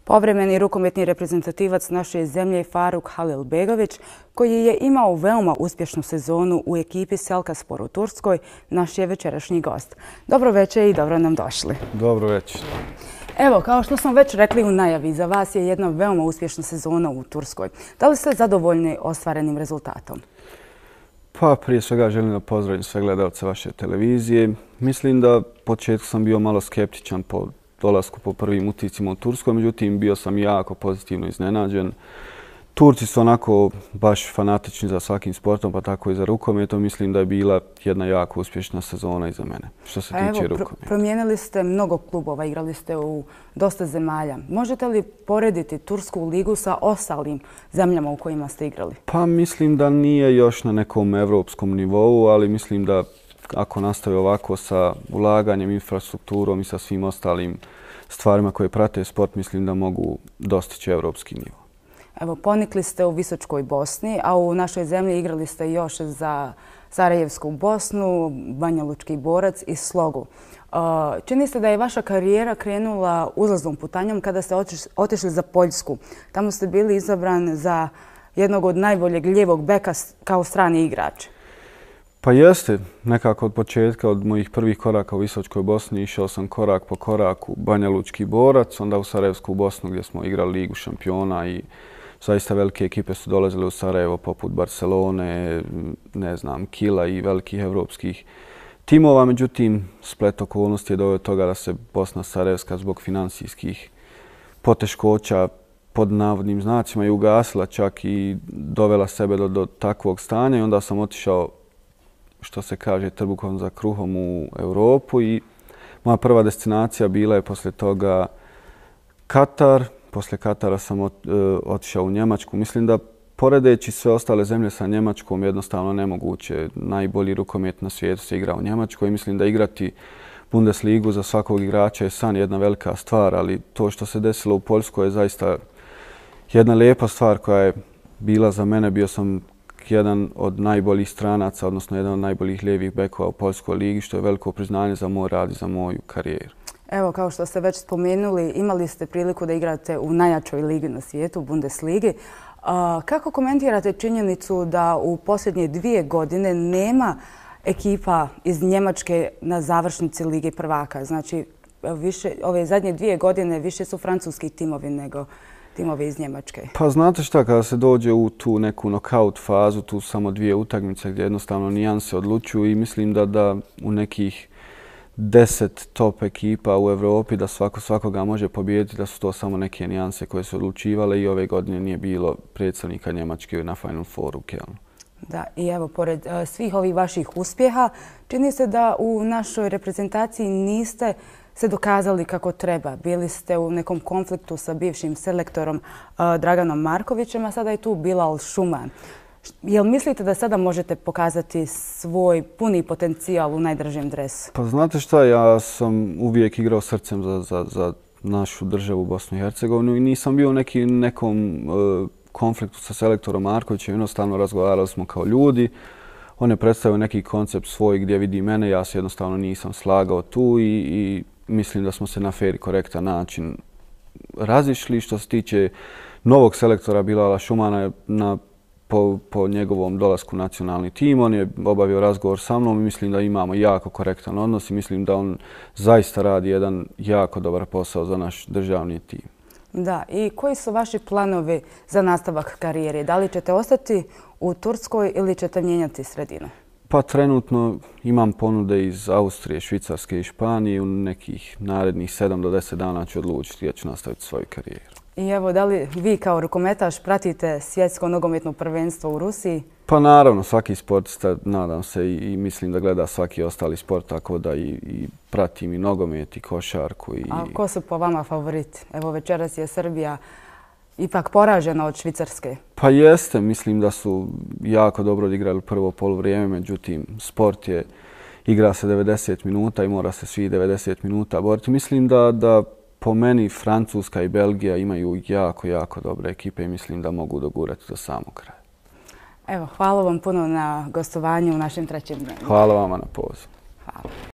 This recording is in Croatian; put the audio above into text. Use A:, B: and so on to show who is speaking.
A: Povremeni rukometni reprezentativac naše zemlje Faruk Halilbegović, koji je imao veoma uspješnu sezonu u ekipi Selkaspor u Turskoj, naš je večerašnji gost. Dobro večer i dobro nam došli.
B: Dobro večer.
A: Evo, kao što smo već rekli u najavi, za vas je jedna veoma uspješna sezona u Turskoj. Da li ste zadovoljni ostvarenim rezultatom?
B: Pa prije svega želim da pozdravim sve gledalce vaše televizije. Mislim da početku sam bio malo skeptičan po dolasku po prvim utiscima u Turskoj, međutim bio sam jako pozitivno iznenađen. Turci su onako baš fanatični za svakim sportom, pa tako i za rukometom. Mislim da je bila jedna jako uspješna sezona i za mene, što se tiče rukometa.
A: Promijenili ste mnogo klubova, igrali ste u dosta zemalja. Možete li porediti Tursku ligu sa ostalim zemljama u kojima ste igrali?
B: Pa mislim da nije još na nekom evropskom nivou, ali mislim da ako nastavi ovako sa ulaganjem, infrastrukturom i sa svim ostalim stvarima koje prate sport, mislim da mogu dostići evropski nivo.
A: Evo, ponikli ste u Visočkoj Bosni, a u našoj zemlji igrali ste još za Sarajevsku Bosnu, Banja Lučki Borac i Slogu. Čini se da je vaša karijera krenula uzlaznom putanjom kada ste otišli za Poljsku. Tamo ste bili izabran za jednog od najboljeg lijevog beka kao strani igrač.
B: Pa jeste, nekako od početka, od mojih prvih koraka u Visočkoj Bosni išao sam korak po koraku Banja Lučki Borac, onda u Sarajevsku Bosnu gdje smo igrali Ligu šampiona i zaista velike ekipe su dolazile u Sarajevo poput Barcelone, ne znam, Kila i velikih evropskih timova. Međutim, splet okolnosti je doveo do toga da se Bosna Sarajevska zbog financijskih poteškoća pod navodnim znacima i ugasila čak i dovela sebe do takvog stanja i onda sam otišao, što se kaže, trbuhom za kruhom u Europu i moja prva destinacija bila je poslije toga Katar. Poslije Katara sam otišao u Njemačku. Mislim da poredeći sve ostale zemlje sa Njemačkom jednostavno nemoguće. Najbolji rukomet na svijetu se igra u Njemačkoj. Mislim da igrati Bundesligu za svakog igrača je san, jedna velika stvar, ali to što se desilo u Poljskoj je zaista jedna lijepa stvar koja je bila za mene. Bio sam jedan od najboljih stranaca, odnosno jedan od najboljih lijevih bekova u Poljskoj ligi, što je veliko priznanje za moj rad i za moju karijeru.
A: Evo, kao što ste već spomenuli, imali ste priliku da igrate u najjačoj ligi na svijetu, Bundesligi. Kako komentirate činjenicu da u posljednje 2 godine nema ekipa iz Njemačke na završnici Lige prvaka? Znači, ove zadnje 2 godine više su francuski timovi nego timovi iz Njemačke.
B: Pa znate šta, kada se dođe u tu neku knockout fazu, tu samo 2 utakmice gdje jednostavno nijanse odlučuju i mislim da u nekih 10 top ekipa u Europi da svakoga može pobijediti, da su to samo neke nijanse koje su odlučivale i ove godine nije bilo predstavnika Njemačke na Final Fouru u Kelnu.
A: Da, i evo, pored svih ovih vaših uspjeha, čini se da u našoj reprezentaciji niste se dokazali kako treba. Bili ste u nekom konfliktu sa bivšim selektorom Draganom Markovićem, a sada je tu Bilal Šuman. Jel mislite da sada možete pokazati svoj puni potencijal u najdržem dresu?
B: Pa znate šta, ja sam uvijek igrao srcem za našu državu Bosnu i Hercegovinu i nisam bio u nekom konfliktu sa selektorom Markovićem. Jednostavno razgovarali smo kao ljudi. On je predstavio neki koncept svoj gdje vidi mene. Ja se jednostavno nisam slagao tu i mislim da smo se na fer i korektan način razišli. Što se tiče novog selektora Bilala Šumana po njegovom dolasku u nacionalni tim, on je obavio razgovor sa mnom i mislim da imamo jako korektan odnos i mislim da on zaista radi jedan jako dobar posao za naš državni tim.
A: Da, i koji su vaši planovi za nastavak karijere? Da li ćete ostati u Turskoj ili ćete mijenjati sredinu?
B: Pa trenutno imam ponude iz Austrije, Švicarske i Španije. U nekih narednih 7 do 10 dana ću odlučiti da ću nastaviti svoju karijeru.
A: I evo, da li vi kao rukometaš pratite svjetsko nogometno prvenstvo u Rusiji?
B: Pa naravno, svaki sportista, nadam se i mislim da gleda svaki ostali sport, tako da i pratim i nogomet i košarku.
A: A ko su po vama favoriti? Evo, večeras je Srbija ipak poražena od Švicarske.
B: Pa jeste, mislim da su jako dobro odigrali prvo poluvrijeme, međutim sport je, igra se 90 minuta i mora se svi 90 minuta boriti. Mislim da po meni Francuska i Belgija imaju jako dobre ekipe i mislim da mogu dogurati do samog kraja.
A: Evo, hvala vam puno na gostovanju u našem trećem dnevniku.
B: Hvala vama na pozivu.
A: Hvala.